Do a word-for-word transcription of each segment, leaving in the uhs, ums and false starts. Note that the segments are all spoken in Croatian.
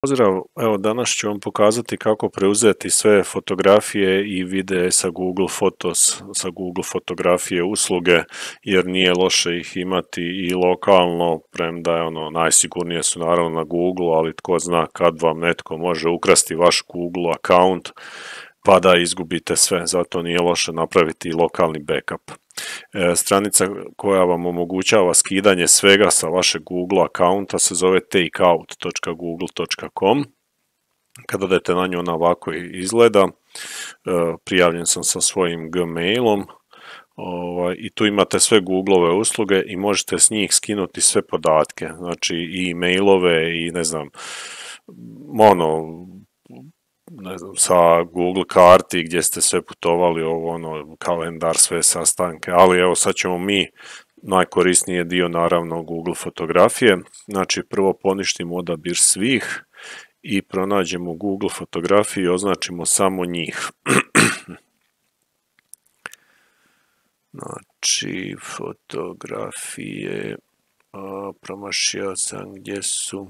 Pozdrav, evo danas ću vam pokazati kako preuzeti sve fotografije i videe sa Google Fotos, sa Google fotografije usluge, jer nije loše ih imati i lokalno, premda je ono najsigurnije su naravno na Google, ali tko zna kad vam netko može ukrasti vaš Google account pa da izgubite sve, zato nije loše napraviti i lokalni backup. E, stranica koja vam omogućava skidanje svega sa vašeg Google accounta se zove takeout dot google dot com. Kada odete na nju, ona ovako izgleda. E, prijavljen sam sa svojim Gmailom ovaj, i tu imate sve Googleove usluge i možete s njih skinuti sve podatke, znači i mailove i ne znam, ono, ne znam, sa Google karti gdje ste sve putovali, ovo ono, kalendar, sve sastanke, ali evo sad ćemo mi, najkorisniji je dio naravno Google fotografije, znači prvo poništimo odabir svih i pronađemo Google fotografije i označimo samo njih. Znači, fotografije, a, promašio sam gdje su.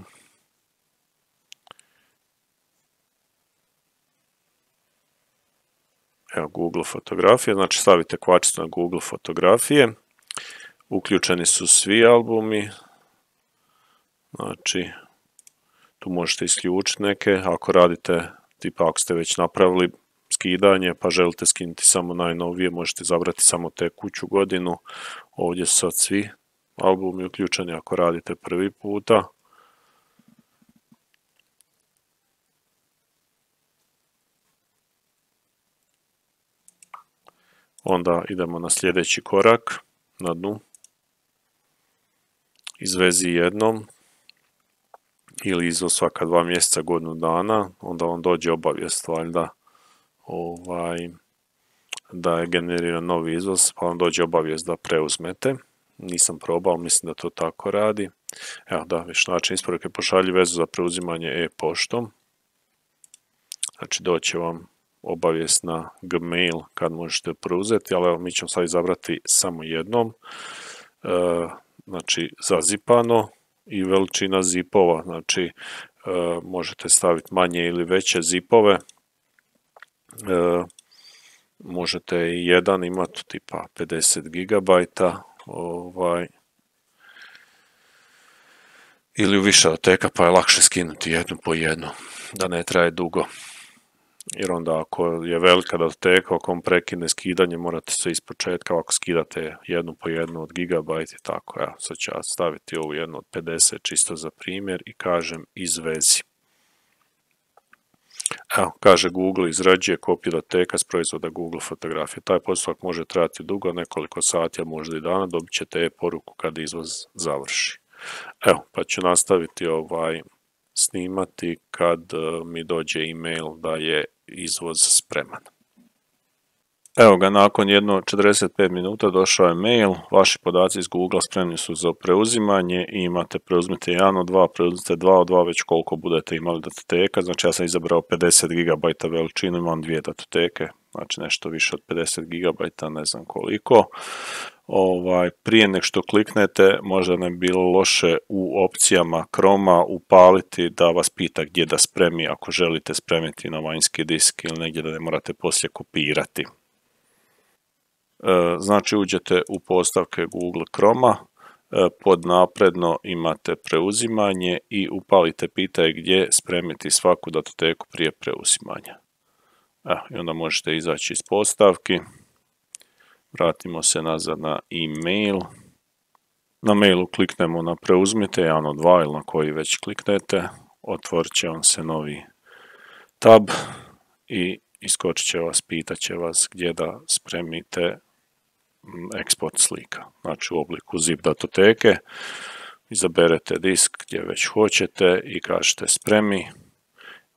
Evo Google fotografije, znači stavite kvačicu na Google fotografije, uključeni su svi albumi, znači tu možete isključiti neke, ako radite, tipa ako ste već napravili skidanje pa želite skinuti samo najnovije, možete izabrati samo tekuću godinu, ovdje su sad svi albumi uključeni ako radite prvi puta. Onda idemo na sljedeći korak, na dnu, izvezi jednom ili izvoz svaka dva mjeseca, godinu dana, onda vam dođe obavijest valjda ovaj, da je generiran novi izvoz, pa vam dođe obavijest da preuzmete. Nisam probao, mislim da to tako radi. Evo da, viš način isporuke, pošalji vezu za preuzimanje e-poštom. Znači doće vam obavijest na Gmail kad možete preuzeti, ali evo mi ćemo sad izabrati samo jednom, e, znači zazipano i veličina zipova, znači e, možete staviti manje ili veće zipove, e, možete i jedan imati tipa pedeset gigabajta, ovaj, ili u više datoteka, pa je lakše skinuti jednu po jednu, da ne traje dugo. Jer onda ako je velika datoteka, ako vam prekine skidanje, morate sve ispočetka, ako skidate jednu po jednu od gigabajt i tako. Ja, sad ću ja staviti ovu jednu od pedeset čisto za primjer i kažem izvezi. Evo, kaže Google izrađuje kopiju datoteka s proizvoda Google fotografije. Taj postupak može trajati dugo, nekoliko sati, a možda i dana, dobit ćete e-poruku kad izvoz završi. Evo, pa ću nastaviti ovaj snimati kad mi dođe email da je izvoz spreman. Evo ga, nakon jedno četrdeset pet minuta došao je mail, vaši podaci iz Google spremni su za preuzimanje i imate preuzmite jedan od dva, preuzmite dva od dva, već koliko budete imali datoteka, znači ja sam izabrao pedeset gigabajta veličinu, imam dvije datoteke, znači nešto više od pedeset gigabajta, ne znam koliko. Ovaj, prije nek što kliknete, možda ne bi bilo loše u opcijama Chroma upaliti da vas pita gdje da spremi ako želite spremiti na vanjski disk ili negdje da ne morate poslije kopirati. E, znači uđete u postavke Google Chroma, e, pod napredno imate preuzimanje i upalite pitaj gdje spremiti svaku datoteku prije preuzimanja. E, i onda možete izaći iz postavki. Vratimo se nazad na e-mail. Na mailu kliknemo na preuzmite, jedan od dva ili na koji već kliknete. Otvorit će vam se novi tab i iskočit će vas, pitat će vas gdje da spremite eksport slika. Znači u obliku zip datoteke. Izaberete disk gdje već hoćete i kažete spremi.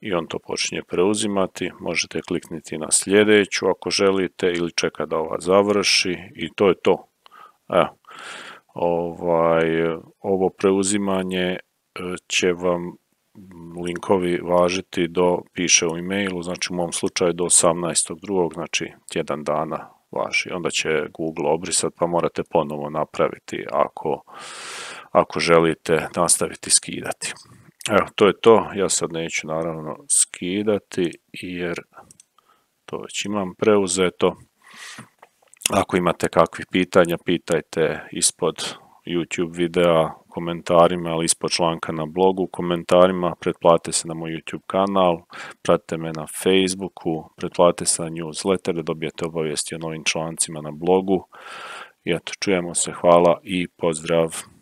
I on to počinje preuzimati, možete kliknuti na sljedeću ako želite ili čeka da ova završi i to je to. Evo, ovaj, ovo preuzimanje će vam linkovi važiti do, piše u e-mailu, znači u mom slučaju do osamnaestog drugog, znači tjedan dana važi. Onda će Google obrisati pa morate ponovo napraviti ako, ako želite nastaviti skidati. Evo, to je to. Ja sad neću naravno skidati jer to već imam preuzeto. Ako imate kakvih pitanja, pitajte ispod YouTube videa u komentarima, ali ispod članka na blogu u komentarima. Pretplatite se na moj YouTube kanal, pratite me na Facebooku, pretplatite se na newsletter da dobijete obavijesti o novim člancima na blogu. I eto, čujemo se, hvala i pozdrav!